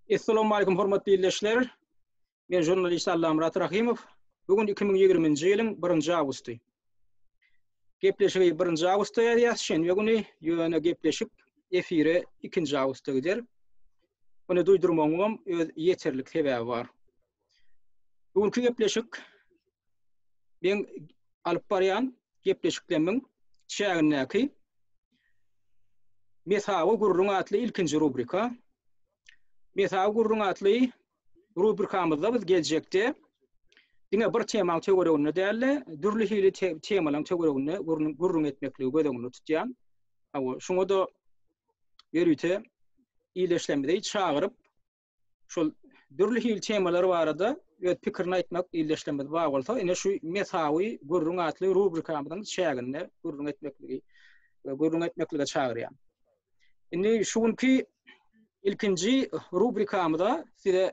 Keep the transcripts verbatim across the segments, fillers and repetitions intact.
Essalamu hormatly ildeşler. Men jurnalist Allamyrat Rahymow. Bu gün iki müň ýigriminji ýylyň birinji awgusty. Gepleşigi birinji awgustda ýazýas, şenbe güni, ýöne gepleşik efire ikinji awgustda gider. Muny duýdurmagyňam öz ýeterlik sebäbi bar. Bu günki gepleşik men alyp barýan gepleşiklerimiň çägindäki Mesawy gürrüň atly ilkinji rubrika. Mesawy gürrüň atly rubrikamyzda biz geljekde diňe bir temaň töwereginde däl-de, dürli hili temalaryň töwereginde gürrüň etmekligi göz öňünde tutýan. Hawa, şoňa-da ýörite ildeşlerimizi çagyryp, şol dürli hili temalar barada öz pikirini aýtmak ildeşlerimiz bar bolsa, ine şu Mesawy gürrüň atly rubrikamyzyň çäginde gürrüň etmekligi gürrüň etmeklige çagyrýan. Indi şu günki ilkinji rubrikamyza size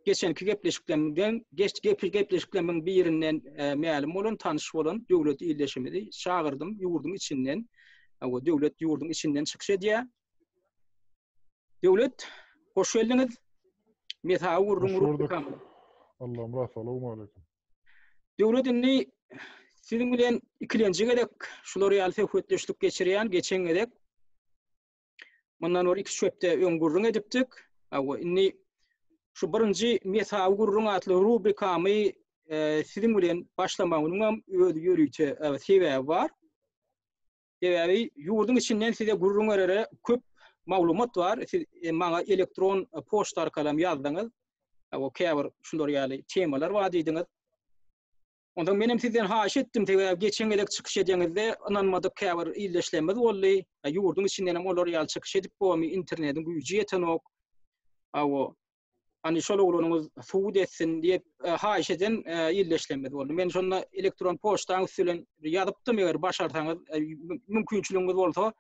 geçenki gepleşiklerimizden, geç gepleşiklerimiň birinden e, mälim bolan, tanyş bolan döwlet ildeşimizi çagyrdym ýurduň içinden. O döwlet ýurduň içinden çykyş edýär. Döwlet, hoş geldiňiz. Mesawy gürrüň rubrikamyza. Allamyrat, salam aleyküm. Döwlet indi siziň bilen ikilenji gezek şular ýaly söhbetdeşlik geçirýän, geçen gezek mundan bir iki hepde öň gürrüň edipdik. Awa, indi şu birinji Mesawy gürrüň atly rubrikamy e, siziň bilen başlamagynyň hem öz ýörite e, sebäbi bar. Sebäbi ýurduň içinden size gürrüň berere köp maglumat bar. Siz e, maňa elektron poçta arkaly ýazdyňyz. Awa, käbir şular ýaly temalar bar diýdiňiz. Ondan menem sizden haýyş etdim, sebäbi geçen gezek çykyş edeňizde ynanmadyk käbir ildeşlerimiz boldy. E, ýurduň içinden hem olar ýaly çykyş edip bolmy, internetiň güýji ýetenok. Awa, hani şol oglanyňyz suwut etsin diýip e, haýyş eden e, ildeşlerimiz boldy. Men şonda elektron poçtaň üstü bilen ýazypdym, eger başarsaňyz, e, mümkinçiligiňiz bolsa,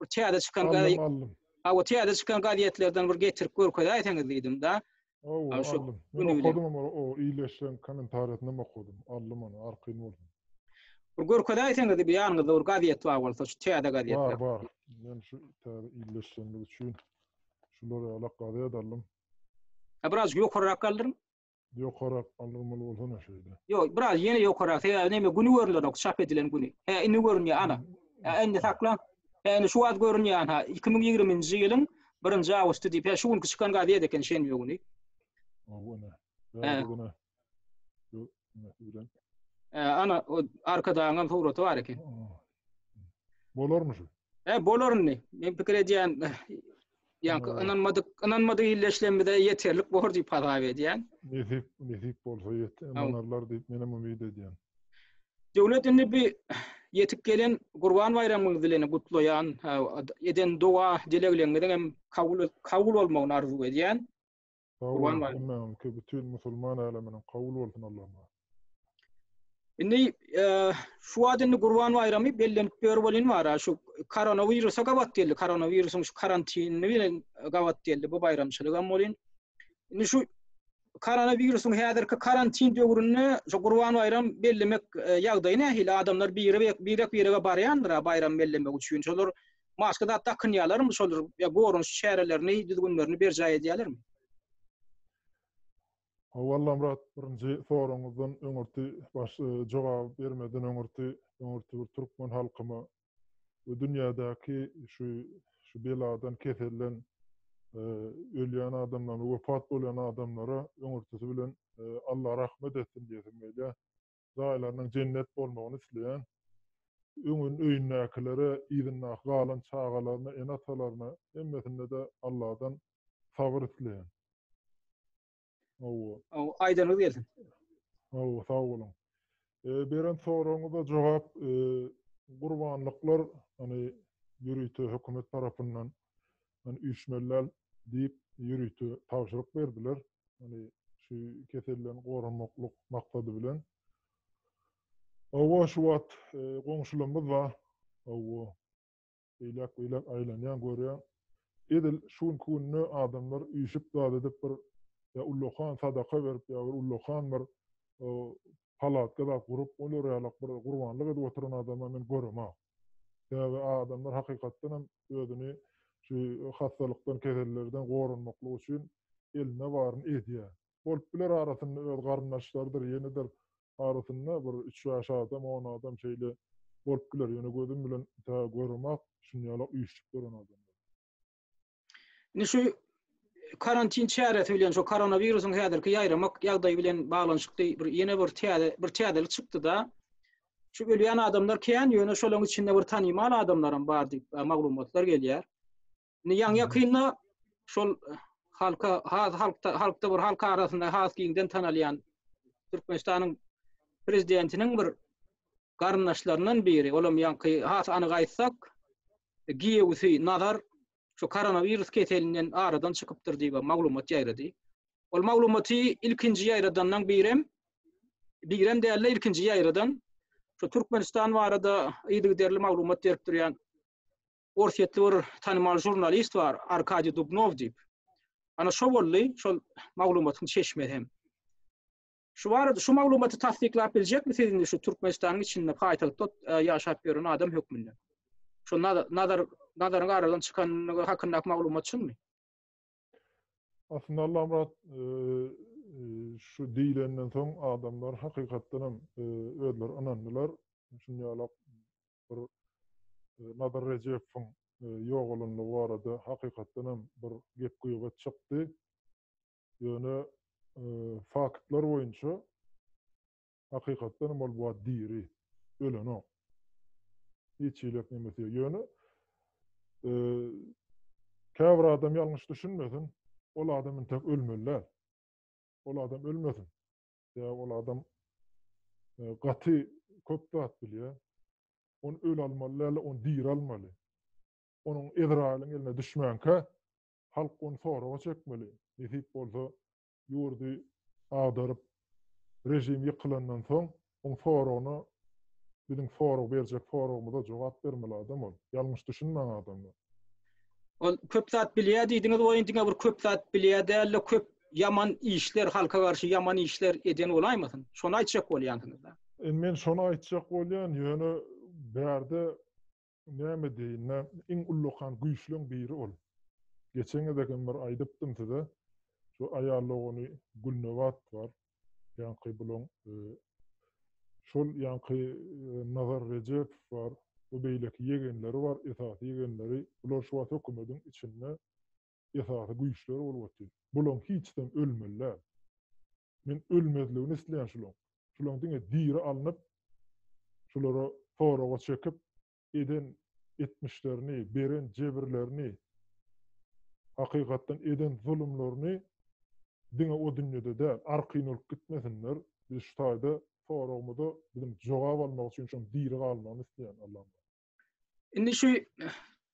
bir täze çykan Aldym, aldym. Awa, täze çykan gazetlerden bir getirip görkezäýseňiz diýdim da. Awa, Aw, şu aldym. Men günü bilen. okadym ama o iyileşen kommentariýasyny okadym. Aldym onu, arkyn bolsun. Bir görkezäýseňiz bir ýanyňyzda bir gazet bar bolsa, şu täze gazetler. Bar, bar. Men şu täze iyileşenlik üçin şular ýalak gazet aldym. Ha, biraz ýokarrak galdyryn. Ýokarrak aldyrmaly bolsa ne şeýle. Ýok, biraz ýene ýokarrak. Sebäbi näme günü görünenok, çap edilen günü. He, indi görünýär ana. He, indi sakla. He, indi şu wagt görünýär ha. iki müň ýigriminji ýylyň birinji awgusty diýip, he, şu günki çykan gazet eken şenbe günü. Awa, ne. He. He, bugüne. Ýok, ne bilen. He, ana, o arkadagyň suraty bar eken. Bolarmy şu? He, bolar indi. Men pikir edýän, ýa-ni ynanmadyk, ynanmadyk illeşlemide ýeterlik bor diýip hasap edýän. Nesip, nesip bolsa ýet, ynanarlar diýip men hem umyt edýän. Döwlet indi bir ýetip gelen Gurban baýramyňyz bilen gutlaýan, ha, eden doga dilegleriňiziň hem kabul, kabul bolmagyny arzuw edýän. Sag Gurban bolun, baýramy. hemmäňizi bütün musulman äleminiň kabul bolsun Allah'ım. Indi, e, şu wagt indi Gurban baýramy bellenip ber bolyn bar, ha, şu koronawirusa gabat geldi. Koronawirusyň şu karantinini bilen gabat geldi bu baýramçylyk hem bolyn. Indi şu koronawirusyň häzirki karantin döwründe şu Gurban baýram bellemek, e, ýagdaýy nähili? Adamlar biri birek birege barýandyr, ha, baýram bellemek üçin. Şolar maska zat dakynýarlarmy? Şolar ýa goranyş çärelerini, düzgünlerini berjaý edýärlermi? Hawa, Murat, birinji soraňyzdan öňürti baş, e, jogap bermeden öňürti, öňürti bir türkmen halkyma we dünýädäki şu, şu beladan keselden, e, ölýän adamlara, wefat bolýan adamlara öňürtisi bilen, e, Allah rahmet etsin diýesim gelýär. Jaýlarynyň cennet bolmagyny isleýän. Öňün öýündäkilere, ýyndaki galan çagalaryna, ene-atalaryna hemmesinde de Allah'dan sabyr isleýän. Hawa. Hawa, aýdyňyz gelsin. Hawa, sag boluň. E, beren soragyňyza jogap, e, gurbanlyklar, hani ýörite hökümet tarapyndan, hani üýşmeliler diýip ýörite tabşyryk berdiler. Hani şu keselden goranmaklyk maksady bilen. Hawa, şu wagt, e, goňşularymyz bar. Hawa. Beýlek beýlek aýlanýan görýän. Edil şu günde adamlar üýşüp zat edip bir ya ullakan sadaka berip ya bir ullakan bir o, palatka da gurup olar ýalak bir gurbanlyk edip oturan adama men göremok. Sebäbi adamlar hakykatdan hem özüni şu hastalykdan, kesellerden goranmaklyk üçin Eline baryny edýär. Bolup biler arasynda öz garyndaşlarydyr, ýenedir arasynda bir üç-bäş adam, on adam şeýle bolup biler. Ýöne gözüm bilen tä göremak, şunýalak üýşüp duran adamlar. Indi şu karantin çäresi bilen şu koronawirusyň häzirki ýaýramak ýagdaýy bilen baglanyşykly bir ýene bir täze bir täzelik çykdy-da. Şu ölýän adamlar kän, ýöne şolaryň içinde bir tanymal adamlaram bar diýip e, maglumatlar gelýär. Indi ýaňy ýakynda şol halka has halkda halkda bir halk arasynda has giňden tanalýan Türkmenistanyň prezidentiniň bir garyndaşlaryndan biri, olam ýaňky has anyk aýtsak, giýewsi Nazar şu koronawirus keselinden aradan çykypdyr diýip maglumat ýaýrady. Ol maglumaty ilkinji ýaýradandan birem birem däl-de ilkinji ýaýradan şu Türkmenistan barada yzygiderli maglumat berip durýan Orsýetli bir tanymal žurnalist bar, Arkadiý Dubnow diýip. Ana şo boldy, şol maglumatyň çeşmesi hem. Şu barada şu maglumaty tassyklap biljekmi siz indi şu Türkmenistanyň içinde paýtagtda e, ýaşap ýören adam hökmünde? Şu Nazar Nazaryň aradan çykanlygy hakyndaky maglumat çynmy? Aslynda Allamyrat e, e, şu diýlenden soň adamlar hakykatdan hem e, özleri ynandylar. Şunýalak bir Nazar Rejepowyň ýogalanlygy barada hakykatdan hem bir gep gyýbat çykdy. Ýöne faktlar boýunça hakykatdan hem ol bu diri, ölenok. Hiç ýylak nemesi ýok. Ýöne käbir adam ýalňyş düşünmesin, ol adam entek ölmeli. Ol adam ölmesin. Ýa ol adam gaty köp zat bilýär. Onu öl almaly däl, onu diri almaly. Onuň Ezrailiň eline düşmänkä halk onu soraga çekmeli. Nesip bolsa ýurdy agdaryp rejim ýykylandan soň oň soragyna biziň sorag berjek soragymyza jogap bermeli adam ol. Ýalňyş düşünmäň adamlar. Ol köp zat bilýär diýdiňiz, oýun diňe bir köp zat bilýär däl, köp ýaman işler, halka garşy ýaman işler eden bolaýmasyn. Şony aýtjak bolýansyňyz da. E, men şony aýtjak bolýan, ýöne bärde näme diýin, iň ullakan güýçlüň biri ol. Geçen gezek hem bir aýdypdym size. Şu aýal dogany Gülnebat bar. Ýaňky bulaň e, şol ýaňky e, Nazar Rejepow bar. Bu beýleki ýegenleri bar, esasy ýegenleri. Bular şu wagt hökümetiň içinde esasy güýçler bolup otyr. Bulaň hiçden ölmeliler. Men ölmezligini isleýän şulaň. Şulaň diňe diri alnyp, şulara soraga çekip eden etmişlerini, beren jebirlerini, hakykatdan eden zulumlaryny diňe o dünýede däl, arkaýyn bolup gitmesinler. Biz şu taýda soragymyza biziň jogap almak üçin şoň diri galmagyny isleýän Allah'ım. Indi şu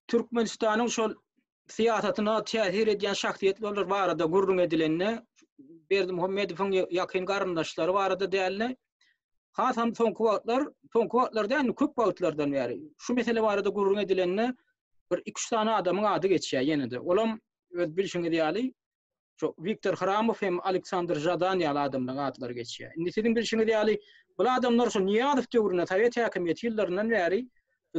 Türkmenistanyň şol syýasatyna täsir edýän şahsyýetler barada gürrüň edilende Berdimuhamedowyň ýakyn garyndaşlary barada däl-de, hasam soňky wagtlar, soňky wagtlar däl, köp wagtlardan bäri şu mesele barada gürrüň edilende bir iki üç sany adamyň ady geçýär ýene-de. Olam öz bilşiňiz ýaly şu Wiktor Hramow hem Aleksandr Žadan ýaly adamlaryň atlary geçýär. Indi siziň bilşiňiz ýaly bu adamlar şu Nyýazow döwründe Sowet häkimiýeti ýyllaryndan bäri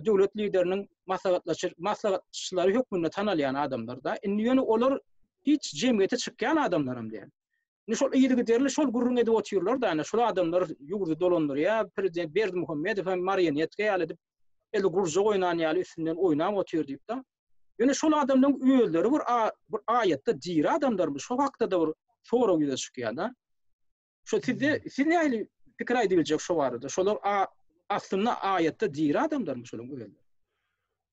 döwlet lideriniň maslahatlaşy maslahatçylary hökmünde tanalýan adamlar da. Indi ýöne olar hiç jemgyýete çykýan adamlar hem däl. Indi şol yzygiderli şol gürrüň edip otyrlar da, şol adamlar ýurdy dolandyrýar, prezident Berdimuhamedow hem marionetka ýaly edip eli gurjak oýnan ýaly üstünden oýnap otyr diýip da. Ýöne şol adamlaryň özleri bir bir aýatda diri adamlarmy? Şo hakda da bir sorag ýüze çykýar da. Şo sizde siz nähili pikir aýdyp biljek şo barada? Şolar aslynda aýatda diri adamlarmy şolaryň özleri?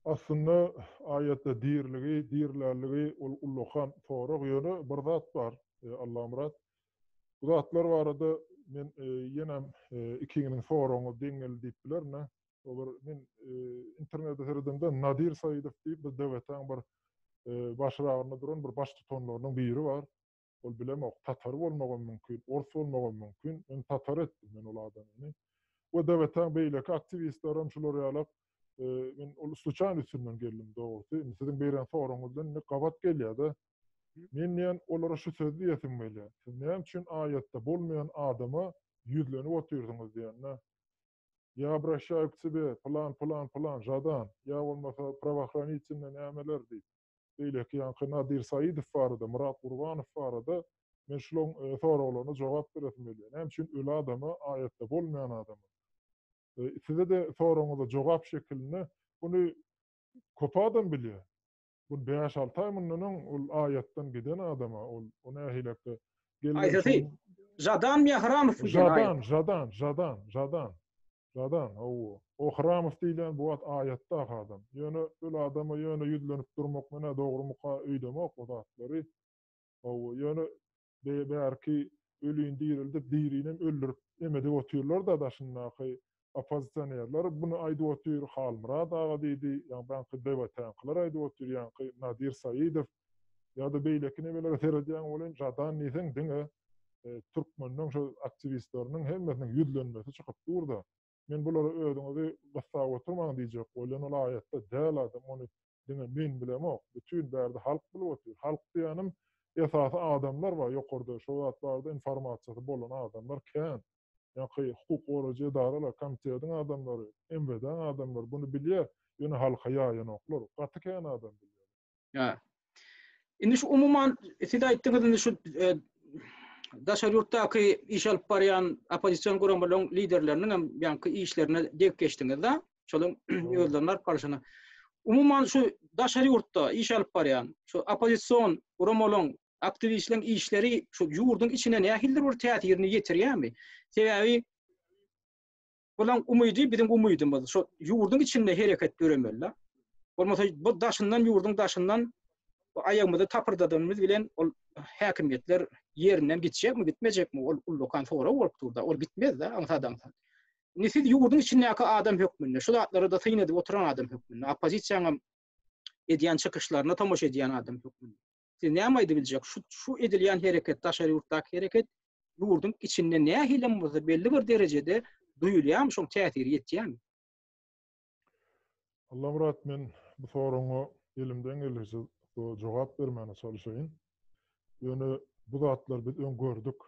Aslynda aýatda diriligi, dirilerligi ol ullakan sorag ýöne bir zat bar, e, Allamyrat. Bu zatlar barada men e, ýenem e, ikiňiziň soragyňyz deň geldi diýip bilerin. O bir men e, internetde seredemde Nadir Saidow diýip bir döwletiň bir e, başragynda duran bir baş tutanlarynyň biri bar. Ol bilemok, Tatar bolmagam mümkin, Ors bolmagam mümkin. Men Tatar etdim men ol adamyny. We döwletiň beýleki aktiwistleri hem şular ýalak e, men ol sluçaýny üstünden geldim dogrusy. Indi siziň beren soragyňyzdan indi gabat gelýär-de. Men diýen olara şu söz diýesim gelýär. Siz näme üçin aýatda bolmaýan adama ýüzlenip otyrsyňyz diýende. Ya обращаю к тебе, plan, plan, plan, Žadan, ýa bolmasa правоохранительный nämeler diýip. beýleki ýaňky Nadir Saidow barada, Myrat Gurbanow barada men şularyň soraglaryna jogap beresim gelýär. Näme üçin öli adama, aýatda bolmaýan adama? Size-de soragyňyza jogap şekilinde buny köp adam bilýär. Bu bäş-alty aý mundan öň ol aýatdan giden adama, ol o nähilekde Aýsasy, Žadan ýa Hramow Žadan, Žadan, Žadan, Žadan. Žadan, hawa. O Hramow diýilýän bu wagt aýatdaky adam. Ýöne öl adama ýöne ýüzlenip durmak menä dogrumyka öýdemok o zatlary. Hawa, ýöne bärki ölini dirildip, dirinem öldürip emedip otyrlar-da daşyndaky oppozisionerler buny aýdyp otyr, Halmyrat aga diýdi, ýa baňky D W T-ňkylar aýdyp otyr, ýaňky Nadir Saidow ýa-da beýleki nemelere seredýän welin Žadan diýseň diňe türkmeniň şu aktiwistleriniň hemmesiniň ýüzlenmesi çykyp dur-da. Men bulara özüňizi gyssap oturmaň diýjek bolýan, ol aýatda däl adam, ony diňe men bilemok, bütün bärde halk bilip otyr. Halk diýenim esasy adamlar bar, ýokarda şu wagt barada informasiýasy bolan adamlar kän. Ýa-ki hukuk goraýjy edaralar, komitetiň adamlary, M W D-niň adamlary bunu bilýär, ýöne halka ýaýanoklar. Gaty kän adam bilýär. Ýa. Indi şu umuman siz aýtdyňyz indi şu daşary ýurtdaky iş alyp barýan oppozision guramalaryň liderleriniň hem ýaňky işlerine degip geçdiňiz-de, şolaryň özleriniň alyp barşyna. Umuman şu daşary ýurtda iş alyp barýan şu oppozision guramalaryň aktiwistleriň işleri şu ýurduň içine nähilidir bir täsirini ýetirýärmi? Sebäbi bulan umydy biziň umydymyz. Şu ýurduň içinde hereket döremeli. Bolmasa bu daşyndan ýurduň daşyndan bu aýagymyzy tapyrdadanymyz bilen ol häkimiýetler ýerinden gitjekmi, gitmejekmi? Ol ullakan sorag bolup durda. Ol gitmez-de, aňsat-aňsat. Indi siz ýurduň içindäki adam hökmünde, şu zatlara da syn edip oturan adam hökmünde, oppozisiýanyň edýän çykyşlaryna tomaşa edýän adam hökmünde. Siz näme aýdyp biljek? Şu, şu edilýän hereket, daşary ýurtdaky hereket ýurduň içinde nähili bolsa belli bir derejede duýulýarmy, şoň täsiri ýetýärmi? Allamyrat, men bu soragyňa elimden gelişi jogap bermäne çalışayyn. Ýöne bu zatlar biz öň gördük.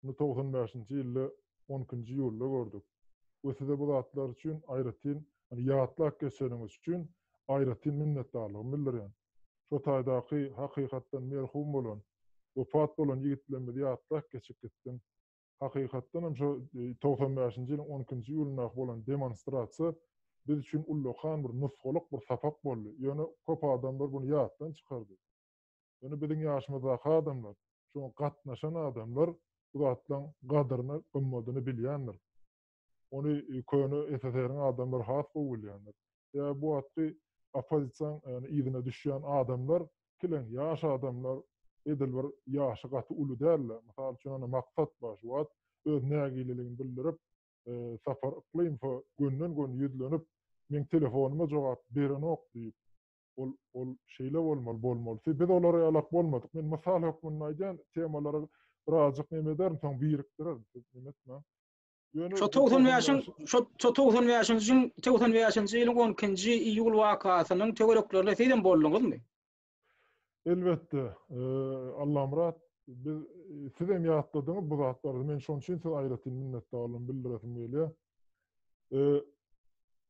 Bunu togsan bäşinji ýylda on ikinji ýylda gördük. We size bu zatlar üçin aýratyn, hani ýatlap geçeniňiz üçin aýratyn minnetdarlygymy bildirýän. Şu taýdaky hakykatdan merhum bolan, wepat bolan ýigitlerimizi ýatlap geçip gitdim. Hakykatdan hem şu togsan bäşinji ýylyň on ikinji ýylyndaky bolan demonstrasiýa biz üçin ullakan bir nusgalyk bir sapak boldy. Ýöne köp adamlar bunu ýatdan çykardy. Ýöne biziň ýaşymyzdaky adamlar, şoňa gatnaşan adamlar bu zatlaryň gadyryny, gymmadyny bilýändir. Ony köne S S S R-iň adamlary has gowy bilýändir. Ýa bu wagtky oppozisiýanyň, ýani yzyna düşýän adamlar, kileň ýaş adamlar edil bir ýaşy gaty uly däldi. Mysal üçin, ana maksat bar şu wagt öz nägileligini bildirip, Sapar Yklymowa gönden-gön ýüzlenip, men telefonyma jogap berenok diýip, ol, ol şeýle bolmaly, bolmaly. Biz olara ýalak bolmadyk. Men mysal hökmünde aýdýan temalara birazjyk neme ederim, soň birikdirerin. Siz neme etmäň. Ýöne Şu togsan bäşiň, şu, şu togsan bäşinji, togsan bäşinji ýylyň on ikinji iýul wakasynyň töwereklerinde siz hem bolduňyzmy? Elbetde, Allamyrat, biz siz hem ýatladyňyz bu zatlary. Men şonuň üçin size aýratyn minnetdarlygymy bildiresim gelýär.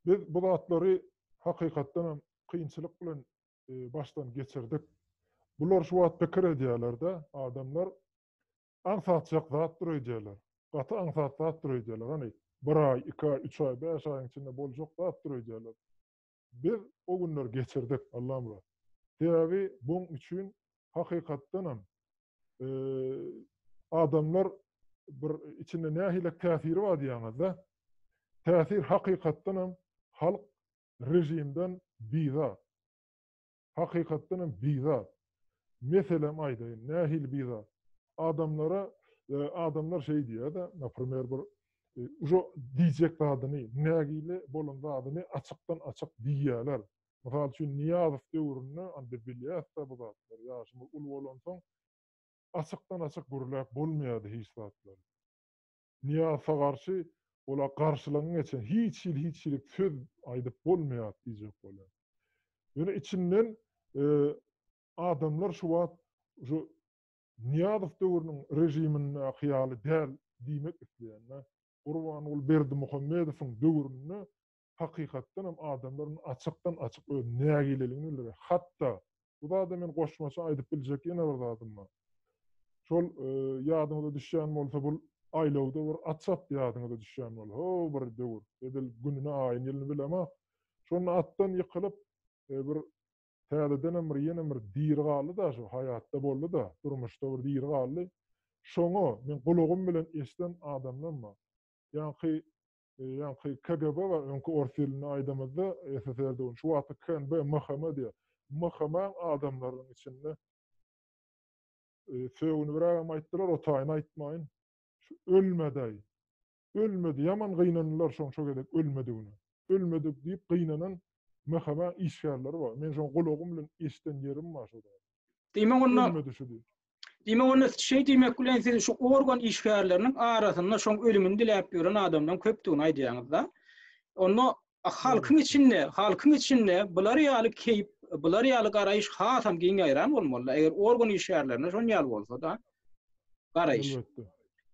Biz bu zatlary hakykatdan hem kynçylyk bilen başdan geçirdik. Bular şu wagt pikir edýärler-de, adamlar aňsatjak zatdyr öýdýärler. Gaty aňsat zatdyr öýdýärler. Hani bir aý, iki aý, üç aý, bäş aýyň içinde boljak zatdyr öýdýärler. Biz o günler geçirdik, Allamyrat. Sebäbi buň üçin hakykatdan hem adamlar bir içinde nähili täsiri bar diýýäňizde, täsir hakykatdan hem halk rejimden bizar. Hakykatdan hem bizar. Meselem aýdaýyn, nähili bizar? Adamlara, adamlar şey diýýär-de, naprimer bir ujo diýjek zadyny, nägile bolan zadyny açykdan açyk diýýärler. Mysal üçin Niýazow döwründe, indi bilýäs-de bu zatlary, ýaşymyz uly bolansoň açykdan açyk gürläp bolmaýardy hiç zatlar. Niýazowa garşy ola garşylygyň geçen hiç hil, hiç hil söz aýdyp bolmaýar diýjek bolýar. Ýöne içinden adamlar şu wagt şu Niýazow döwrüniň rejiminde hyýaly däl diýmek isleýänler, Gurbanguly Berdimuhamedowyň döwründe hakykatdan hem adamlaryň açykdan açyk öz nägileligini bildirýär. Hatda Bu zada men goşmaça aýdyp biljek ýene bir zadym bar. Şol e, ýadyňyza düşýän bolsa bu aýlawda bir at çapdy ýadyňyza düşýän bolsa. Ho bir döwür. Edil gününi aýyny ýylyny bilemok. Şonda atdan ýykylyp e, bir täzeden bir ýene bir diri galdy da şu haýatda boldy da, durmuşda bir diri galdy. Şoňa men gulagym bilen eşden adamlar bar. Ýaňky ýaňky K G B bar, öňki ors dilinde aýdamyzda S S S R-de şu wagtda K N B, M H M diýär. M H M adamlaryň içinde e, sögünü biragam aýtdylar, o taýyny aýtmaýyn. Şu ölmedi. Ölmedi. Ýaman gynandylar şoň şo gezek ölmedigine. Ölmedik diýip gynanan M H M işgärleri bar. Men şoň gulagym bilen eşden ýerim bar şoda. Diýmek onda Ölmedi şu diýip. Diýmek onda şey diýmek bilen siz şu organ işgärleriniň arasynda şoň ölümini diläp ýören adamlaryň köpdügini aýdýaňyz-da. Onda halkyň içinde, halkyň içinde bular ýaly keýp, bular ýaly garaýyş hasam giň ýaýran bolmaly. Eger organ işgärlerine şon ýaly bolsa da garaýyş. Elbetde.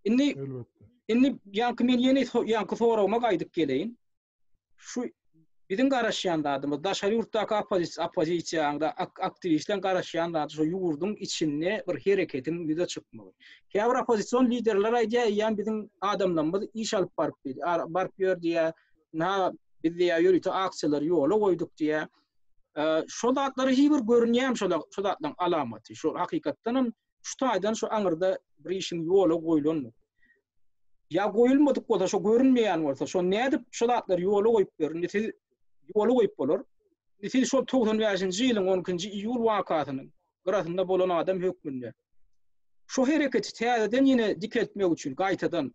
Indi Elbetde. indi ýaňky men ýene ýaňky soragyma gaýdyp geleýin. Şu biziň garaşýan zadymyz daşary ýurtdaky oppozisiýa oppozisiýaňda aktiwistleň garaşýan zady şu ýurduň içinde bir hereketiň ýüze çykmagy. Käbir oppozision liderler aýdýar, "Eýýäm biziň adamlarymyz iş alyp baryp diýdi, baryp ýör diýär. Na biz diýär ýörite aksiýalary ýola goýduk diýär." Şo zatlary hiç bir görünýär şo şo zatlaryň alamaty. Şu hakykatdan hem şu taýdan şu aňyrda bir işiň ýola goýulandyr. Ýa goýulmadyk bolsa, şo görünmeýän bolsa, şo nädip şo zatlary ýola goýup berin? Siz ýola goýup bolar. Siz şol togsan bäşinji ýylyň on ikinji iýul wakasynyň gyrasynda bolan adam hökmünde şu hereketi täzeden ýene dikeltmek üçin gaýtadan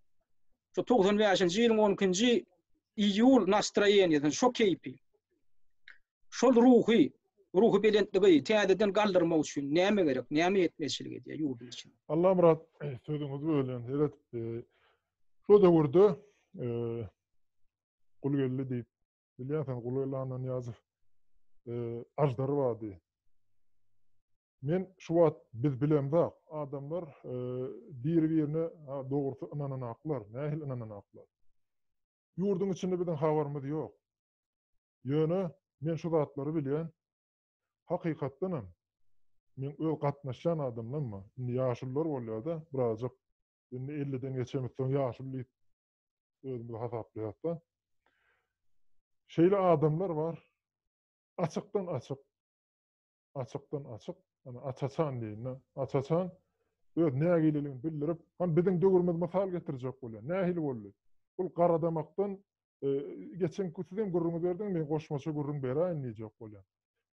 şu togsan bäşinji ýylyň on ikinji iýul nastroýeniýasyny, şo keýpi, şol ruhy, ruhy belentligi täzeden galdyrmak üçin näme gerek, näme ýetmezçilik edýär ýurduň içinde? Allamyrat, sözüňizi bölýän, seret, şo döwürde Gulgeldi diýip, bilýänsiň, Gulgeldi Annanyýazow ajdar bardy. Men şu wagt biz bilemzok, adamlar biri-birine dogrusy ynananaklar, nähili ynananaklar. Ýurduň içinde biziň habarymyz ýok. Ýöne men şu zatlary bilýän, hakykatdan hem men öz gatnaşýan adamlarym, indi ýaşulular bolýar-da, birazjyk indi elliden geçemizden soň ýaşuly diýip özümizi hasaplaýarys-da. Şeýle adamlar bar, açykdan açyk, açykdan açyk, ana açaçan diýin, açaçan öz nägileligini bildirip, hem biziň döwrümiz mysal getirjek bolýar. Nähili boldy? Bu garadamakdan e, geçen sizem gürrüňi berdiň, men goşmaça gürrüň beräýin diýjek bolýan.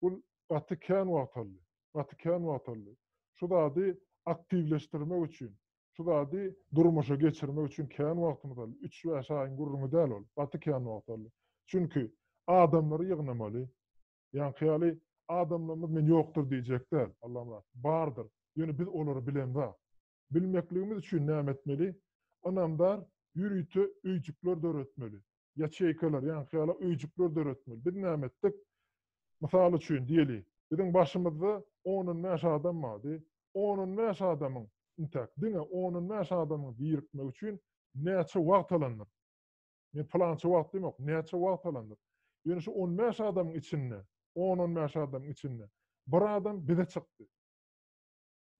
Bu gaty kän wagt aldy. Gaty kän wagt aldy. Şu zady aktiwleşdirmek üçin, şu zady durmuşa geçirmek üçin kän wagtymyz aldy. Üç bäş aýyň gürrüňi däl ol. Gaty kän wagt aldy. Çünki adamlary ýygnamaly. Ýaňky ýaly adamlarymyz men ýokdur diýjek däl. Allamyrat, bardyr. Ýöne biz olary bilemzok. Bilmekligimiz üçin näme etmeli? Ynamdar ýörite öýjükler döretmeli. Ýaçeýkalar, ýaňky ýaly öýjükler döretmeli. Biz näme etdik? Mysal üçin diýeli, biziň başymyzda on bäş adam bardy. On bäş adamyň intäk diňe on bäş adamyň birikmek üçin näçe wagt alandyr? Men plança wagt diýmek, näçe wagt alandyr? Ýöne şu on bäş adamyň içinde, on bäş adamyň içinde bir adam bize çykdy.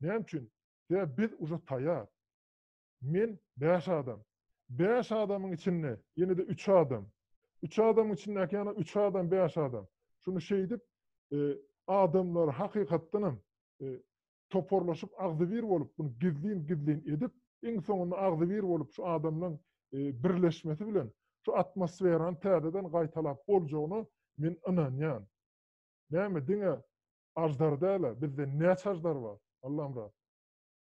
Näme üçin? Sebäbi biz uje taýýar. Men bäş adam. Bäş adamyň içinde ýene de üç adam. Üç adamyň içindäki ýene üç adam, bäş adam. Şunu şeýdip, e, adamlar hakykatdan hem, e, toparlaşyp agzybir bolup, bunu gizlin-gizlin edip, iň soňunda agzybir bolup şu adamlaryň, e, birleşmesi bilen şu atmosferany täzeden gaýtalap boljagyna men ynanýan. Näme diňe ajdar däl, bizde näçe ajdar bar? Allamyrat.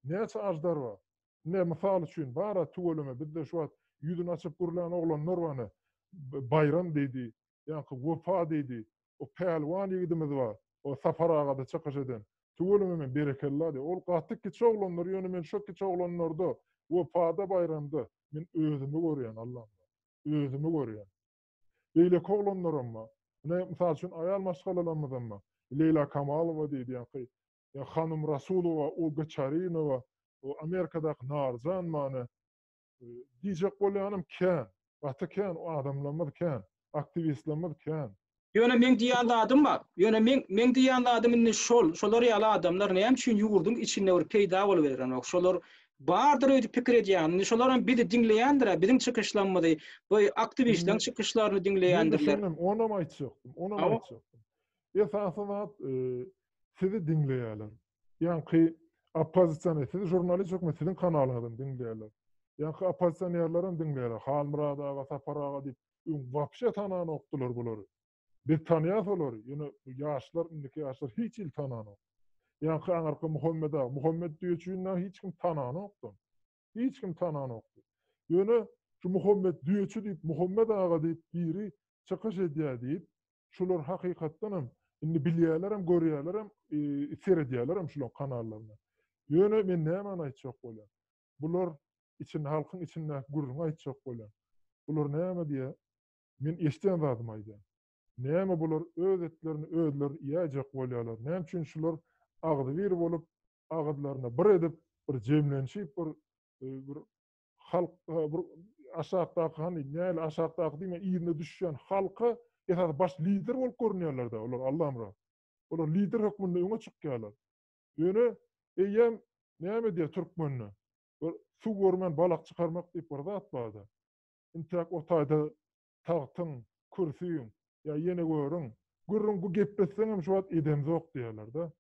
Näçe ajdar bar? Ne mysal üçin bara tüweleme bizde şu wagt ýüzüni açyp gurlan oglanlar bar ne? Bayram diýdi, ýa-da Wepa diýdi. O pälwan ýigidimiz bar. O Safar agada çykyş eden. Tüweleme men berekella diýdi. Ol gaty kiçi oglanlar, ýöne men şu kiçi oglanlarda Wepada Bayramda men özümi görýän Allamyrat. Özümi görýän. Beýleki oglanlaram bar. Ne mysal üçin aýal maşgalalarymyzam bar. Leýla Kamalowa diýdi, ýa-da ya Hanum Rasulowa, Olga Çarinowa, o Amerikadaky Narjan many diýjek bolýanym kän, gaty kän, o adamlarymyz kän, aktiwistlerimiz kän. Ýöne men diýen zadym bar. Ýöne men men diýen zadym indi şol, şolar ýaly adamlar näme üçin ýurduň içinde bir peýda bolup berenok. Şolar bardyr öýdüp pikir edýän. Indi şolar hem bizi diňleýändir, biziň çykyşlarymyzy, bu aktiwistleriň çykyşlaryny diňleýändirler. Men onam aýtjakdym, onam aýtjakdym. Esasy zat e, sizi diňleýärler. Ýaňky oppozisioner, sizi žurnalist hökmünde siziň kanalyňyzdan diňleýärler. Ýaňky oppozisionerler hem diňleýärler. Halmyrat aga, Sapar aga diýip, öň wapşe tananokdylar bulary. Biz tanýas olary. Ýöne ýaşlar, indiki ýaşlar hiç il tananok. Ýaňky aňarky Muhammed aga, Muhammed Düýeçini hiç kim tananokdy. Hiç kim tananokdy. Ýöne şu Muhammed Düýeçi diýip, Muhammed aga diýip biri çykyş edýär diýip, şular hakykatdan hem indi bilýärler hem, görýärler hem, e, seredýärler hem şular kanallaryna. Ýöne men näme aýtjak bolýan? Bular için halkyň içinde gürrüň aýtjak bolýan. Bular näme diýe? Men eşden zadym aýdýan. Näme bular öz etlerini özleri iýäjek bolýarlar. Näme üçin şular agzy bir bolup, agyzlaryna bir edip, bir jemlenşip, bir e, bir halk e, bir aşakdaky hani näle aşakdaky diýme ýerine düşýän halka esas baş lider bolup görünýärler da olar Allamra. Olar lider hökmünde öňe çykýarlar. Ýöne eýem näme diýär türkmenler? Bir suw görmän balak çykarmak diýip bir zat bardy. Intäk o taýda tagtyň, kürsüň ýa ýene görüň. Gürrüň bu gepletseň hem şu wagt edemzok diýerler da.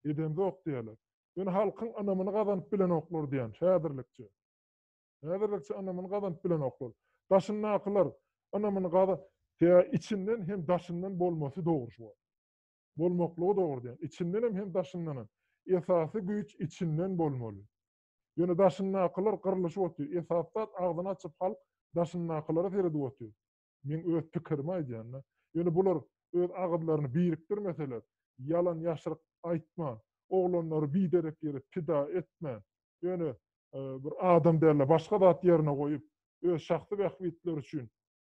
Edemzok diýerler. Ýöne halkyň ynamyny gazanyp bilenoklar diýen häzirlikçe. Häzirlikçe ynamyny gazanyp bilenoklar. Daşyndakylar ynamyny gaza ýa içinden hem daşyndan bolmasy dogry şu wagt. Bolmaklygy dogry diýen. İçinden hem hem daşyndan hem. Esasy güýç içinden bolmaly. Ýöne daşyndakylar gyrlyşyp otyr. Esas zat agzyny açyp halk daşyndakylara seredip otyr. Men öz pikirimi aýdýan. Ýöne bular öz agyzlaryny birikdirmeseler, ýalan ýaşyryk aýtman, oglanlary biderek ýere pida etmän, ýöne e, bir adam derler başga zat ýerine goýup, öz şahsy bähbitleri üçin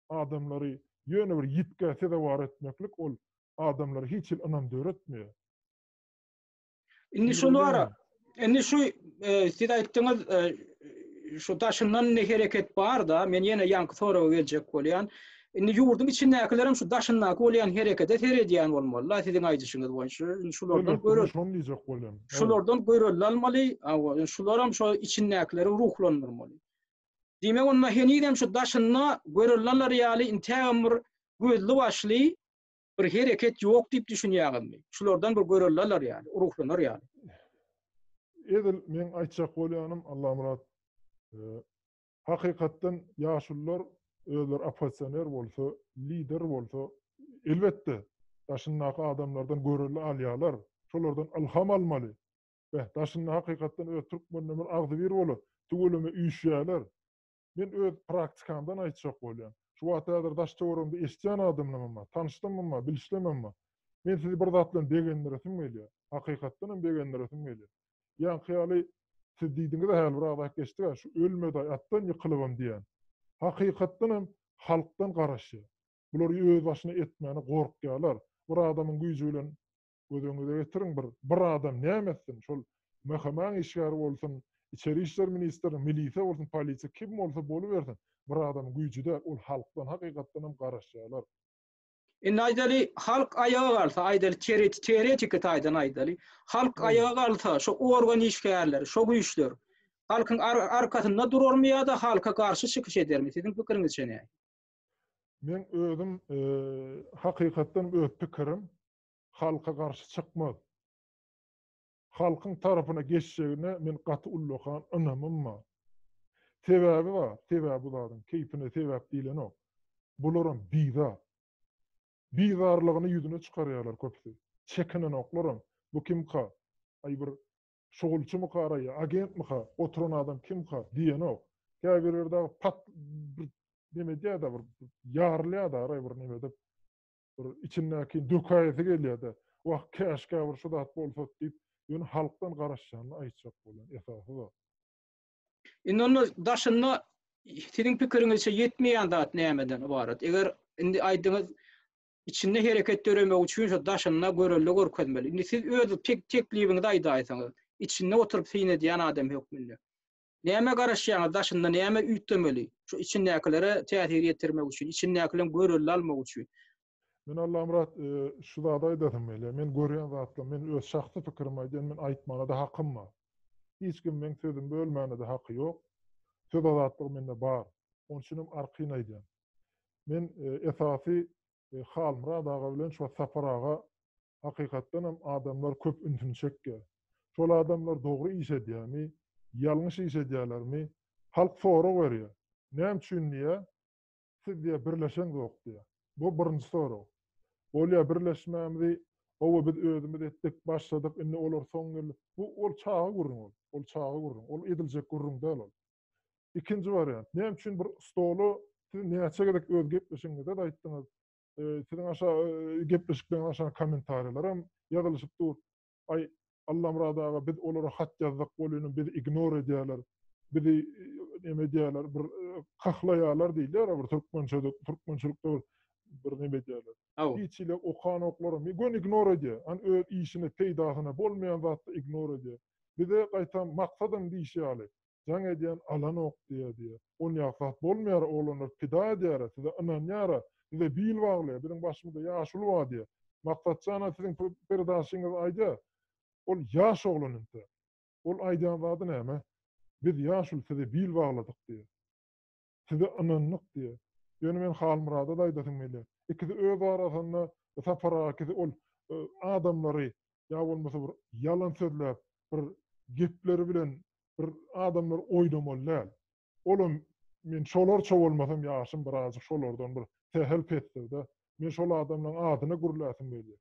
adamlary ýöne bir ýitgä sezewar etmeklik ol adamlara hiç hil ynam döretmeýär. Indi şol ara, indi şu e, siz aýtdyňyz e, şu daşyndan ne hereket bar da, men ýene ýaňky soraga geljek bolýan. Indi ýurduň içindäkiler hem şu daşyndaky bolýan herekete seredýän bolmaly. Siziň aýdyşyňyz boýunça şulardan görel. Şony diýjek bolýan. Şulardan görel almaly, şular hem şu içindäkileri ruhlandyrmaly. Diýmek onda henizem şu daşynda görülenler ýaly intägem bir gözli başly bir hereket ýok diýip düşünýäňizmi? Şulardan bir görülenler ýaly, ruhlanar ýaly. Edil men aýtjak bolýanym Allamyrat, e, hakykatdan ýaşullar özler oppozisioner bolsa, lider bolsa, elbetde daşyndaky adamlardan göreli alýarlar. Şolardan ilham almaly. Ve daşynda hakykatdan öz türkmenler bir agzy bir bolup, tüweleme üýşýärler. Men öz praktikamdan aýtjak bolýan. Şu wagt häzir daş töweregimde eşitýän adamlarym bar, tanyşdym bar, bilişlemem bar. Men sizi bir zat bilen begendiresim gelýär. Hakykatdan hem begendiresim gelýär. Ýaňky ýaly siz diýdiňiz häli bir agzak geçdi, şu ölmedi atdan ýykylybam diýen. Hakykatdan hem halkdan garaşýar. Bular öz başyna etmäne gorkýarlar. Bir adamyň güýji bilen göz öňüne getiriň bir bir adam näme etsin? Şol MHM işgäri bolsun, içeri işler ministri, milisiýa bolsun, polisiýa kim bolsa bolubersin. Bir adamyň güýji de ol halkdan hakykatdan hem garaşýarlar. Indi aýdaly halk aýaga galsa, aýdaly teoretik teoretiki taýdan aýdaly. Halk aýaga galsa, şu organ işgärleri, şu güýçler halkyň ar arkasynda durarmy ýa-da halka garşy çykyş edermi? Siziň pikiriňizçe näme? Men özüm e, hakykatdan öz pikirim halka garşy çykmaz. Halkyň tarapyna geçjegine men gaty ullakan ynamym bar. Sebäbi bar, sebäbi bu zadyň keýpine sebäp diýlenok. Bularam bizar. Bizarlygyny ýüzüne çykarýarlar köpüsi. Çekinenoklaram. Bu kimka? Ay bir şugulçymyka araýa, agentmika, oturan adam kimka diýenok. Käbirleri dagy pat bir neme diýär-de bir ýarylýar da aray bir neme edip bir içindäki dökäýesi gelýär-de. Wah, käşgä bir şu zat bolsa diýip, ýöne halkdan garaşýanyny aýtjak bolýan esasy zat. Indi onda daşynda siziň pikiriňizçe ýetmeýän zat nämeden ybarat? Eger indi aýdyňyz içinde hereket döremek üçin şu daşynda görelde görkezmeli. Indi siz öz tek teklibiňizi aýdaýsaňyz, içinde oturyp syn edýän adam hökmünde. Näme garaşýaňyz, daşynda näme üýtgemeli? Şu içindäkilere täsir ýetirmek üçin, içindäkileň görelde almak üçin. Men Allamyrat şu zady aýdasym gelýär. Men görýän zatlar, men öz şahsy pikirimi aýdýan, men aýtmana-da hakym bar. Hiç kim meň sözümi bölmäne-de haky ýok. Söz azatlygy mende bar. Onuň üçin hem arkaýyn aýdýan. Men esasy Halmyrat aga bilen şu Sapar aga hakykatdan hem adamlar köp ünsüni çekýär. Şol adamlar dogry iş edýärmi, ýalňyş iş edýärlermi? Halk sorag berýär. Näme üçin diýär? Siz diýär birleşen ýok diýär. Bu birinji sorag. Bolýar birleşmämizi, owa biz özümiz etdik, başladyk, indi olar soň geldi. Bu ol çaga gürrüň ol. Ol çaga gürrüň. Ol ediljek gürrüň däl ol. Ikinji wariant. Näme üçin bir stoly siz näçe gezek öz gepleşigiňizde aýtdyňyz? Siziň aşa gepleşikden aşa kommentariýalar hem ýazylyşyp dur. Ay Allamyrat aga biz olara hat ýazdyk bolýan, bizi ignore edýärler. Bizi neme edýärler, bir kahlaýarlar diýilýär, bir türkmençe türkmençilikde bir bir neme edýärler. Hiç ile okan oklary gön ignore edýär. An öz işine peýdasyna bolmaýan zatda ignore edýär. Bize gaýtam maksadym diýişi ýaly. Jaň edýän alan ok diýär diýär. On ýa zat bolmaýar, oglanlar pida edýär, size ynanýar, size bil baglaýar, biziň başymyzda ýaşuly bar diýär. Maksatjana siziň perdaşyňyz aýdýar. Ol ýaş oglan indi. Ol aýdýan zady näme? Biz ýaşuly size bil bagladyk diýär. Size ynandyk diýär. Ýöne men Halmyrada da aýdasym gelýär. Ikisi öz arasynda Sapar aga ikisi ol adamlary ýa bolmasa bir ýalan sözläp, bir gepleri bilen bir adamlar oýnamaly däl. Olam men şolarça bolmasam ýaşym birazjyk şolardan bir sähel pesdir-de. Men şol adamlaryň adyna gürläsim gelýär.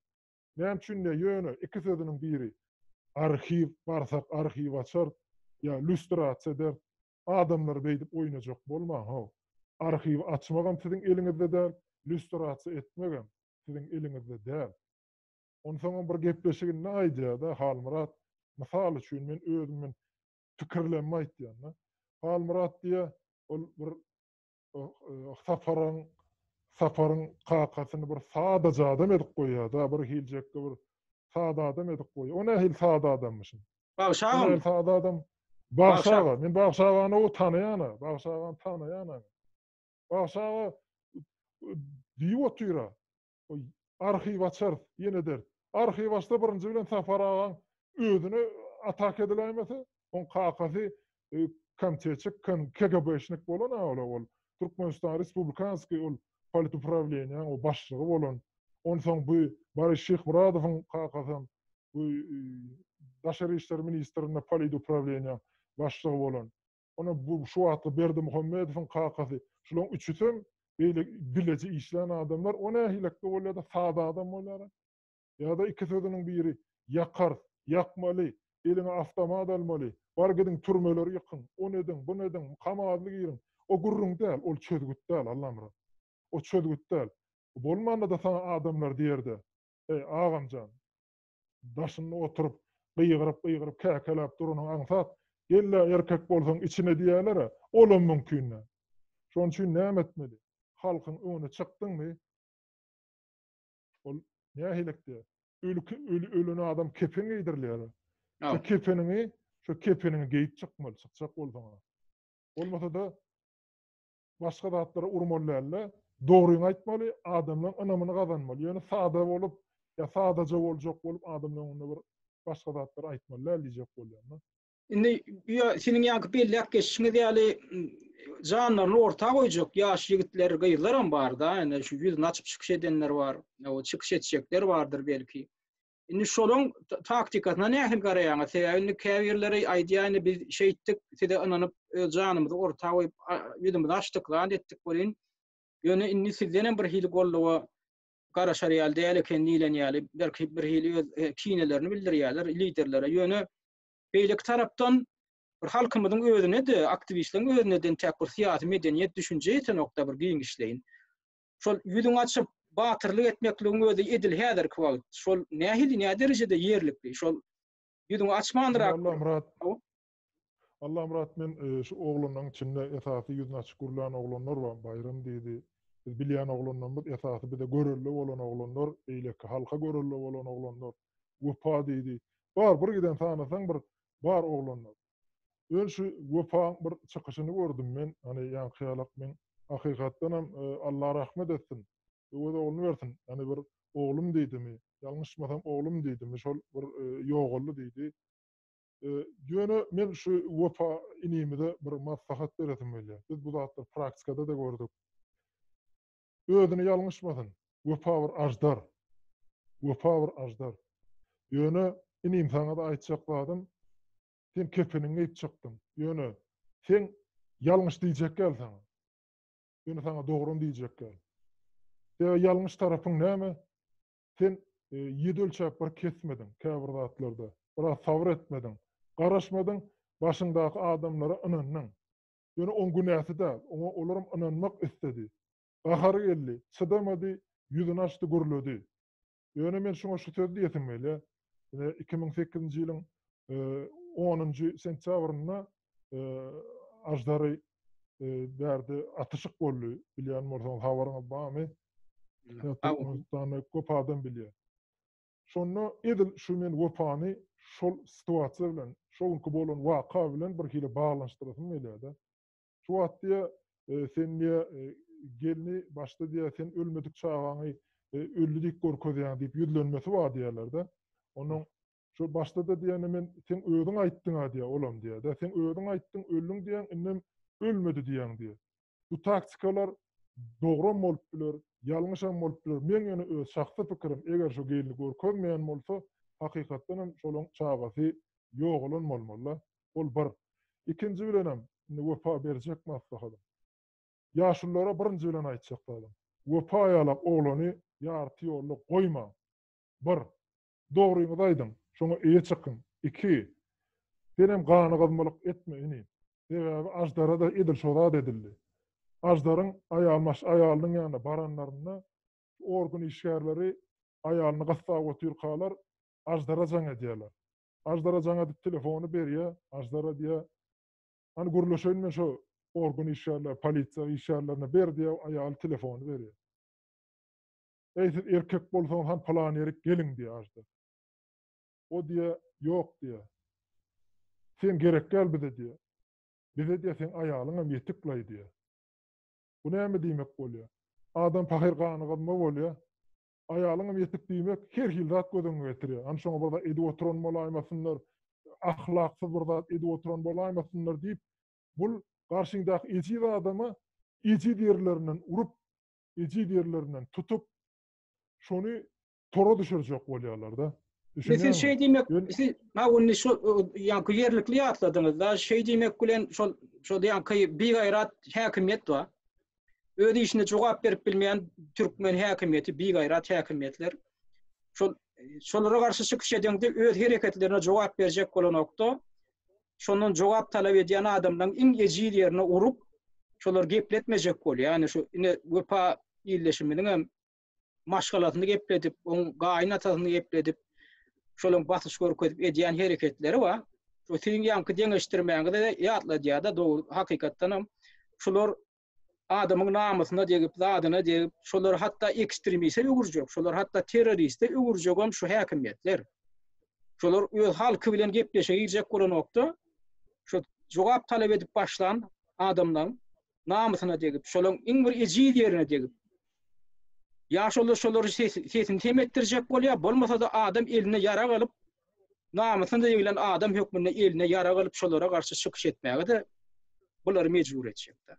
Näme üçin diýär, ýöne iki sözüniň biri arhiw barsak arhiw açar ýa lüstrasiýa eder. Adamlar beýdip oýnajak bolmaň, ho. Arhiw açmagam siziň eliňizde däl, lüstrasiýa etmegem siziň eliňizde däl. Onsoň bir gepleşiginde aýdýar-da Halmyrat, mysal üçin men özüm men pikirlenme aýtýan-da. Halmyrat diýär, ol bir Saparyň Saparyň kakasyny bir sadaja adam edip goýýar-da, bir hiljekde bir sada adam edip goýýar. O nähili sada adammyşyn? Bagşy agam. Nähili sada adam? Bagşy aga, men Bagşy agany o tanaýan-a, Bagşy agany tanaýan-a. Bagşy aga diýip otyr-a. Arhiw açar, ýene der. Arhiw açsa birinji bilen Sapar agaň özüne atak ediläýmese, oň kakasy komitetçik, K G B-şnik bolan ol ol. Türkmenistan Respublikanskiý ol politupravleniýanyň o başlygy bolan. Onsoň bu Boris Şyhmyradowyň kakasy bu Daşary işler ministrinde politupravleniýanyň başlygy bolan. Ona bu şu wagtky Berdimuhamedowyň kakasy. Şularyň üçüsem beýle bileji işlän adamlar, o nähilekde bolýar-da sada adam bolýar. Ýa-da iki sözüniň biri ýakar, ýakmaly, eliňe avtomat almaly, bar gidiň türmeleri ýykyň, on ediň, bunu ediň, kamazly giriň. O gürrüň däl, ol çözgüt däl, Allamyrat. O çözgüt däl. Bolmanda da sana adamlar diýerde, ey agamjan, daşynda oturyp, gygyryp, gygyryp, käkeläp duranyň aňsat, gel-le erkek bolsaň içine diýerler-ä, olam mümkin däl. Şonuň üçin näme etmeli? Halkyň öňüne çykdyňmy? Ol nähilekde? Ölü, ölü, ölen adam kepen geýdirilýär. Şu kepeniňi, şu kepeniňi geýip çykmaly, çykjak bolsaň. Bolmasa da başga zatlara urmaly däl-de, dogryňy aýtmaly, adamlaryň ynamyny gazanmaly. Ýöne sada bolup, ýa sadaja boljak bolup adamlaryň öňünde bir başga zatlar aýtmaly däl diýjek bolýan-da. Indi ýa seniň ýaňky belläp geçişiňiz ýaly janlaryny orta goýjak ýaş ýigitler, gyzlar hem bar-da, ýani şu ýüzüni açyp çykyş edenler bar, o çykyş etjekler bardyr belki. Indi şolaryň taktikasyna nähili garaýaňyz? Sebäbi indi käbirleri aýdýar, indi biz şeýtdik, size ynanyp öz janymyzy orta goýup, ýüzümizi açdyk, zat etdik bolýan. Ýöne indi sizden hem bir hili golluga garaşar ýaly däl eken diýlen ýaly, belki bir hili öz kinelerini bildirýärler liderlere. Ýöne beýleki tarapdan bir halkymyzyň özüne de, aktiwistleriň özüne de tek bir syýasy medeniýet düşünje ýetenokda bir giňişleýin. Şol ýüzüňi açyp batyrlyk etmekligiň özi edil häzirki wagt. Şol nähili, näme derejede ýerlikli? Şol ýüzüňi açmandyrak. Allamyrat. Allamyrat, men şu oglanlaryň içinde esasy ýüzüni açyp gürlän oglanlar bar, Baýram diýdi. Biz bilýän oglanlarymyz esasy bize görelde bolan oglanlar, beýleki halka görelde bolan oglanlar. Wepa diýdi. Bar bir giden sanasaň bir bar oglanlar. Ön şu Wepaň bir çykyşyny gördüm men. Hani ýaňky ýalak men hakykatdan hem Allah rahmet etsin. Öwez ogluny bersin. Ýani bir oglum diýdimi, ýalňyşmasam oglum diýdimi, şol bir ýogaldy diýdi. Ýöne men şu Wepa inimize bir maslahat beresim gelýär. Biz bu zatlary praktikada-da gördük. Özüni ýalňyşmasyn. Wepa bir aždar. Wepa bir aždar. Ýöne inim saňa-da aýtjak zadym, sen kepeniňi geýip çykdyň. Ýöne sen ýalňyş diýjek gel saňa. Ýöne saňa dogryny diýjek gel. Sebäbi ýalňyş tarapyň näme? Sen ýedi ölçäp bir kesmediň käbir zatlarda. Biraz sabyr etmediň. Garaşmadyň, başyňdaky adamlara ynandyň. Ýöne oň günäsi däl. Oňa olaram ynanmak isledi. Gahary geldi, çydamady, ýüzüni açdy, gürledi. Ýöne men şuňa şu sözi diýesim gelýär. Ine iki müň sekizinji ýylyň onunjy sentýabrynda Aždary bärde atyşyk boldy. Bilýän bolsaňyz habaryňyz barmy? Türkmenistanda köp adam bilýär. Şonda edil şu men Wepany şol situasiýa bilen, şo günki bolan waka bilen bir hili baglanyşdyrasym gelýär-de. Şu wagt diýe, sen diýe, gelni başda diýe, sen ölmedik çagaňy öldi diýip görkezýäň diýip ýüzlenmesi bar diýerler-de. Onuň şu başda-da diýende men sen özüň aýtdyň-a diýe, olam diýe-de. Sen özüň aýtdyň, öldüň diýen, indem ölmedi diýen diýe. Bu taktikalar dogram bolup biler, ýalňyşam bolup biler. Men ýöne öz şahsy pikirim, eger şu gelni görkezmeýän bolsa, hakykatdan hem şolaň çagasy ýogalan bolmaly. Ol bir. Ikinji bilenem, indi Wepa berjek maslahatym. Ýaşululara birinji bilen aýtjak zadym. Wepa ýalak oglany ýarty ýolda goýma. Bir, dogryňyzy aýdyň, şoňa eýe çykyň. Iki, senem gany gyzmalyk etme ini. Sebäbi Aždara da edil şo zat edildi. Ajdaryň aýal maş aýalynyň ýanyna baranlarynda organ işgärleri aýalyny gyssap otyrkalar Aždara jaň edýärler. Aždara jaň edip telefony berýär. Aždara diýär, Hani gürleşeýin men şo organ işgärler, polisiýa işgärlerine ber diýär, aýaly telefony berýär. Ey siz erkek bolsaňyz han plan ýerik geliň diýär Aždar. O diýär, ýok diýär. Sen gerek gel bize diýär. Bize diýär sen aýalyň hem ýetiklaý diýär. Bu näme diýmek bolýar? Adam pahyr gany gyzma bolýar. Aýalyň hem ýetik diýmek her hil zat göz öňüne getirýär. Hani şoňa bir zat edip oturan bolaýmasynlar, ahlaksyz bir zat edip oturan bolaýmasynlar diýip, bul garşyňdaky ejiz adama ejiz ýerlerinden urup, ejiz ýerlerinden tutup, şony tora düşürjek bolýarlar-da. Siz şey diýmek, siz ha ony şu ýaňky ýerlikli ýatladyňyz da, şey diýmek bilen şol şol ýaňky bigaýrat häkimiýet bar. Öz işine jogap berip bilmeýän türkmen häkimiýeti, bigaýrat häkimiýetler. Şol şolara garşy çykyş edende öz hereketlerine jogap berjek bolan nokta, şondan jogap talap edýän adamlaryň iň ejiz ýerine urup, şolar gepletmejek bolýar. Ýani şu ine Wepa illeşiminiň hem maşgalasyny gepledip, oň gaýyn atasyny gepledip, şolaryň basyş görkezip edýän hereketleri bar. Şu siziň ýaňky deňeşdirmäňizi ýatladýar-da, dogry, hakykatdan hem şular adamyň namysyna degip, zadyna degip, şolar hatda ekstremiste öwürjek, şolar hatda terroriste öwürjek hem şu häkimiýetler. Şolar öz halky bilen gepleşe girjek bolan nokta, şu jogap talap edip başlan adamlaryň namysyna degip, şolaryň iň bir ejiz ýerine degip, ýa şolar şolary sesini sem etdirjek bolýar, bolmasa da adam eline ýarag alyp, namysyna degilen adam hökmünde eline ýarag alyp şolara garşy çykyş etmäge de bulary mejbur etjekdir.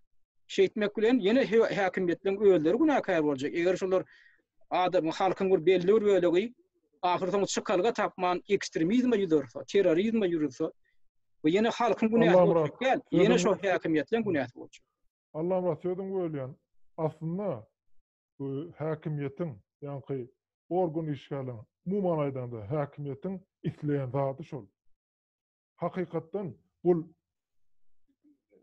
Şeýtmek bilen ýene häkimiýetleň özleri günäkär boljak. Eger şolar adamyň halkyň bir belli bir bölegi ahyr soňy çykalga tapman ekstremizme ýüzürse, terrorizme ýürüse, bu ýene halkyň günäsi boljak däl, ýene şol häkimiýetleň günäsi boljak. Allamyrat sözüň bölýän. Aslynda bu häkimiýetiň, ýaňky organ işgärleriniň, umuman aýdanda häkimiýetiň isleýän zady şol. Hakykatdan bu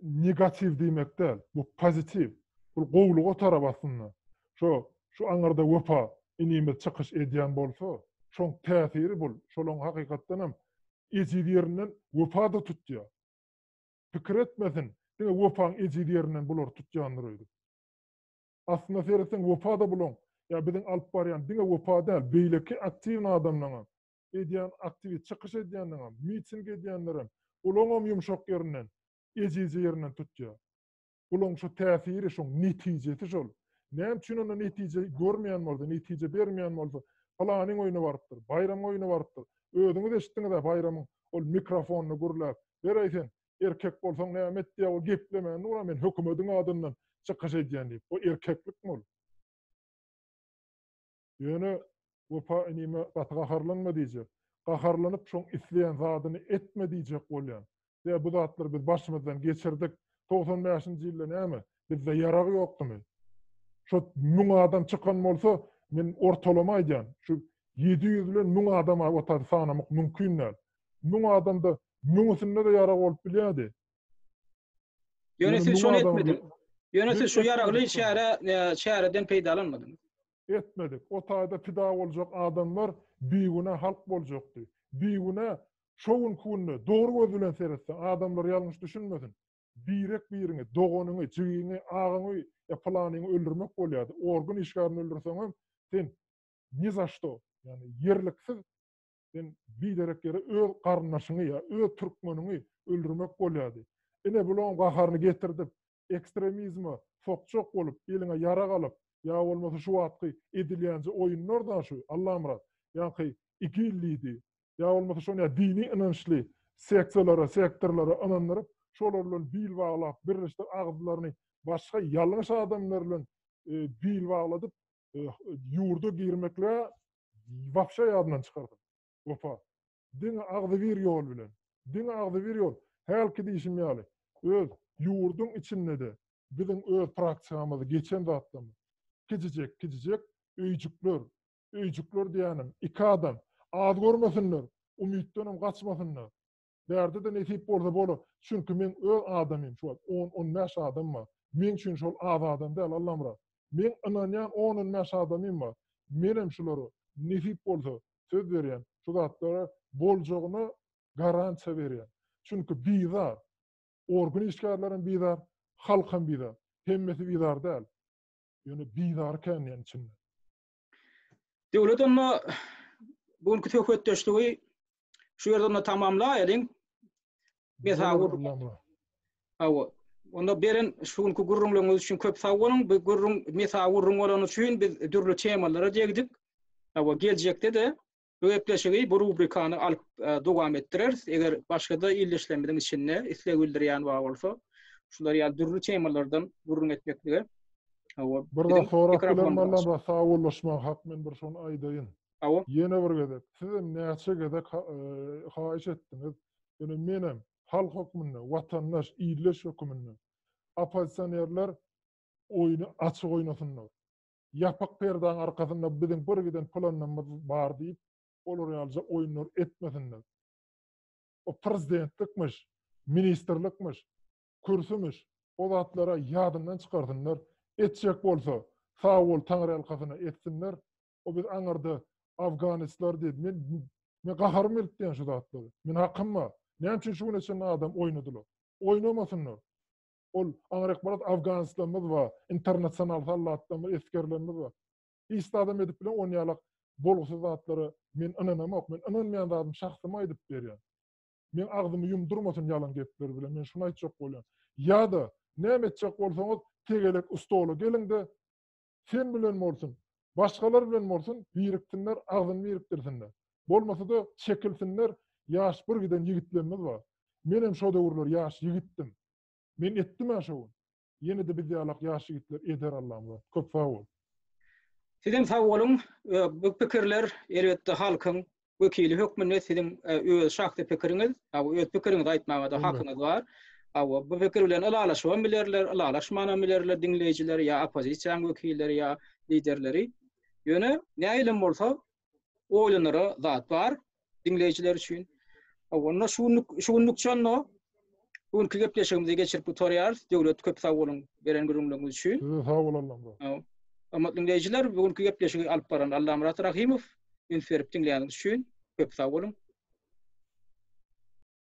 negatiw diýmek däl, bu pozitiw. Bu gowluga tarap aslynda. Şo şu aňyrda Wepa inimiz çykyş edýän bolsa, şoň täsiri bul. Şolaň hakykatdan hem ejiz ýerinden Wepa da tutýar. Pikir etmesin, diňe Wepaň ejiz ýerinden bular tutýandyr öýdüp. Aslynda seretseň Wepa da bulaň, ýa biziň alyp barýan diňe Wepa däl, beýleki aktiw adamlaryň edýän aktiw çykyş edýänleriň, miting edýänleriň, bulaň hem ýumşak ýerinden, ejiz ýerinden tutýar. Bulaň şu täsiri, şoň netijesi şol. Näme üçin onda netije görmeýän bolsa, netije bermeýän bolsa, palanyň oýuna barypdyr, Baýramyň oýuna barypdyr. Özüňiz eşitdiňiz-ä Baýramyň ol mikrofonyny gürläp, beräý sen, erkek bolsaň näme et diýýär, ol geplemän dur, men hökümetiň adyndan çykyş edýän diýip. O erkeklikmi ol? Ýöne Wepa inime gaty gaharlanma diýjek. Gaharlanyp şoň isleýän zadyny etme diýjek bolýan. Ýa bu zatlary biz başymyzdan geçirdik. Togsan bäşinji ýylda näme? Bizde ýarag ýokdumy? Şo müň adam çykan bolsa, men ortalama aýdýan, şu ýedi ýüz bilen müň adam o taýda sanamak mümkin däl. Müň adamda müňüsinde-de ýarag bolup bilýärdi. Ýöne siz şony etmediňiz. Ýöne siz şu ýaragly çäre, çäreden peýdalanmadyňyz. Etmedik. O taýda pida boljak adamlar bigünä halk boljakdy. Bigünä şo günki günde dogry göz bilen seretseň, adamlar ýalňyş düşünmesin. Birek-biriňi, doganyňy, jigiňi, agaňy ýa pylanyňy öldürmek bolýardy. Organ işgärini öldürseňem, sen ni za što, ýagny ýerliksiz sen biderek ýere öz garyndaşyňy ýa öz türkmeniňi öldürmek bolýardy. Ine bularyň gaharyny getirdip, ekstremizme sokjak bolup, eliňe ýarag alyp, ýa bolmasa şu wagtky edilýänje oýunlar da şu, Allamyrat, ýaňky IGIL diýdi, ýa bolmasa şony ýa dini ynançly seksiýalara, sektorlara ynandyryp, şolar bilen bil baglap, birleşdirip agzlaryny başga ýalňyş adamlar bilen, e, bil bagladyp, e, ýurda girmekle wapşa ýadyndan çykardy. Wepa. Diňe agzybir ýol bilen. Diňe agzybir ýol. Hälki diýişim ýaly, öz ýurduň içinde-de biziň öz praktikamyzy geçen zatlarymyz. Kiçijek, kiçijek öýjükler, öýjükler diýenim, iki adam az görmesinler, umytdanam gaçmasynlar. Bärde-de nesip bolsa bolar. Çünki men öz adamym şu wagt on, on bäş adam bar. Men üçin şol az adam däl, Allamyrat. Men ynanýan on, on bäş adamym bar. Menem şulara nesip bolsa söz berýän, şu zatlara boljagyna garantiýa berýän. Çünki bizar, organ işgärlerim bizar, halkam bizar. Hemmesi bizar däl. Ýöne bizar kän içinde. Döwlet onda bugünkü söhbetdeşligi şu ýerde onda tamamlaýalyň. Mesagür. Hawa. Onda beren şu günkü gürrüňleriňiz üçin köp sag boluň. Bu gürrüň mesagürrüň bolany üçin biz dürli temalara degdik. Hawa, geljekde-de bu gepleşigi, bu rubrikany alyp, e, dowam etdireris. Eger başga-da illeşlemediň içinde isleg bildirýän bar bolsa, şular ýaly dürli temalardan gürrüň etmeklige. Hawa, Bir biziň zat sorap mikrofon bilen bar. Alla sag bollaşma hak men bir şony aýdaýyn. Hawa. Ýene bir gezek sizem näçe gezek ha-, e, haýyş etdiňiz. Ýöne menem halk hökmünde, watandaş, illeş hökmünde oppozisionerler oýny açyk oýnasynlar. Ýapyk perdaň arkasynda biziň bir giden planymyz bar diýip, olar ýalyja oýunlar etmesinler. O prezidentlikmiş, ministrlikmiş, kürsümüş, o zatlara ýadyndan çykarsynlar. Etjek bolsa, sag bol Taňry halkasyna etsinler. O biz aňyrda Afganistar diýdi. Men, men gaharym gelip diýen şu zatlary. Men hakym bar. Näme üçin şu güne çenli adam oýnadylar? Oýnamasynlar. Ol aňryk barat Afganistanymyz bar, internasional sallatlarymyz, esgerlerimiz bar. Hiç adam edip bilen on ýalak bolgusyz zatlara men ynanamok. Men ynanmaýan zadym şahsyma aýdyp berýän. Men agzymy ýumdurmasyn ýalan gepler bilen. Men şunu aýtjak bolýan. Ýa-da näme etjek bolsaňyz tegelek stola geliň-de sen bilen bolsun, başgalar bilen bolsun, biriksinler, agzyny birikdirsinler. Bolmasa-da çekilsinler, ýaş bir giden ýigitlerimiz bar. Men hem şo döwürler ýaş ýigitdim. Men etdim ha şo gün. Ýene de biz ýalak ýaş ýigitler eder Allah'ym. Köp sag bol. Sizem sag boluň. E, bu pikirler elbetde halkyň wekili hökmünde siziň, e, öz şahsy pikiriňiz, ha, öz pikiriňizi aýtmaga da Elbetde. hakyňyz bar. Ha, bu pikir bilen ylalaşybam bilerler, ylalaşmanam bilerler diňleýjiler ýa oppozisiýanyň wekilleri ýa liderleri. Ýöne näýlem bolsa oýlanara zat bar diňleýjiler üçin. Ha, onda şu günlük, şu günlük çonno bu günkü gepleşigimizi geçirip gutarýarys. Döwlet köp sag boluň beren gürrüňleriňiz üçin. Size sag bol Allamyrat. Ha, hormatly diňleýjiler, bu günkü gepleşigi alyp baran Allamyrat Rahimow üns berip diňleýäniňiz üçin köp sag boluň.